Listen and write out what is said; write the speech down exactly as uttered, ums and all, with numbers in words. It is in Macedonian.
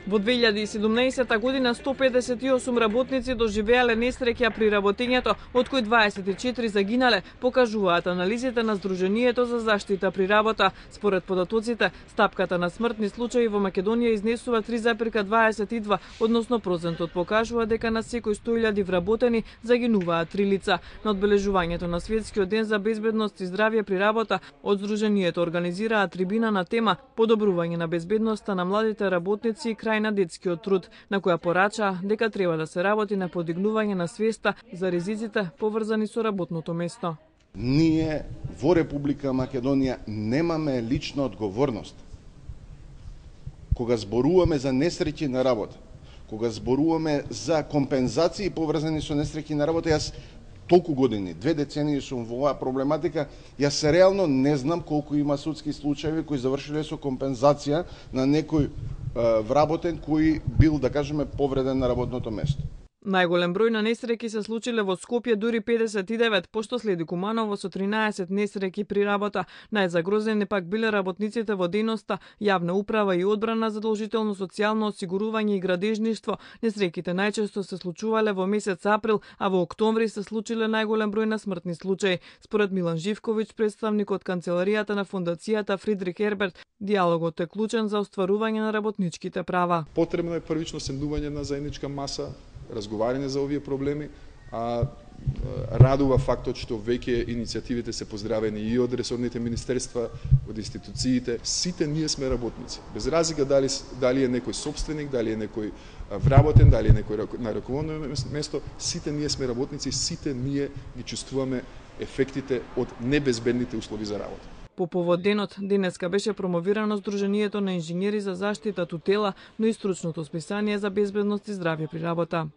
Во две илјади и седумнаесетта година сто педесет и осум работници доживеале несреќа при работењето, од кои дваесет и четири загинале, покажуваат анализите на Сдруженијето за заштита при работа. Според податоците, стапката на смртни случаи во Македонија изнесува три запирка дваесет и два, односно процентот покажува дека на секој сто илјади вработени загинуваат три лица. На одбележувањето на Светскиот ден за безбедност и здравје при работа, од Сдруженијето организираа трибина на тема подобрување на безбедноста на младите работници и крај на детскиот труд, на која порача дека треба да се работи на подигнување на свеста за ризиците поврзани со работното место. Ние во Република Македонија немаме лична одговорност. Кога зборуваме за несреќи на работа, кога зборуваме за компензации поврзани со несреќи на работа, јас толку години, две децении сум во оваа проблематика, јас реално не знам колку има судски случаи кои завршиле со компензација на некој вработен кој бил, да кажеме, повреден на работното место. Најголем број на несреќи се случиле во Скопје, дури педесет и девет, пошто следи Куманово со тринаесет несреќи при работа. Најзагрозени пак биле работниците во дејноста, јавна управа и одбрана, задолжително социјално осигурување и градежништво. Несреќите најчесто се случувале во месец април, а во октомври се случиле најголем број на смртни случаи. Според Милан Живковиќ, представник од канцеларијата на фондацијата Фридрих Ерберт, диалогот е клучен за остварување на работничките права. Потребно е првично седнување на заедничка маса, разговарање за овие проблеми, а радува фактот што веќе иницијативите се поздравени и од ресорните министерства, од институциите. Сите ние сме работници. Без разлика дали, дали е некој собственик, дали е некој вработен, дали е некој на раководно место, сите ние сме работници, сите ние ги чувствуваме ефектите од небезбедните услови за работа. По повод денот, денеска беше промовирано Сдруженијето на инженери за заштита тутела, но и стручното списание за безбедност и здравје при работа.